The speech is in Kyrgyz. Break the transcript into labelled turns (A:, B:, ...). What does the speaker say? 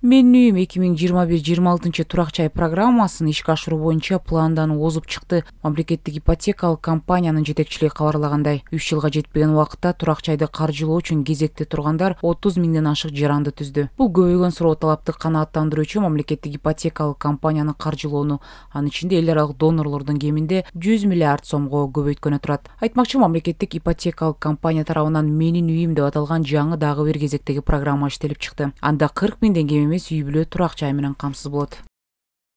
A: Менин үйүм 2025-26 турак жай программасын ишке ашыруу боюнча пландануу озуп чыкты. Мамлекеттик ипотекалык компаниянын жетекчилиги кабарлагандай, 3 жылга жетпеген убакытта турак жайды каржылоо үчүн кезекте тургандар 30 миңден ашык жаранды түздү. Бул көбөйгөн суроо талапты канааттандыруу үчүн мамлекеттик ипотекалык компанияны каржылоону, анын ичинде эл аралык донорлордун кеминде 100 миллиард сомго көбөйткөнү турат. Айтмакчы, мамлекеттик ипотекалык компания тарабынан Менин үйүм деп аталган жаңы дагы бир кезектеги программа иштелип чыкты. Анда 40 миңден кем эмес үй бүлө турак жай менен камсыз болот.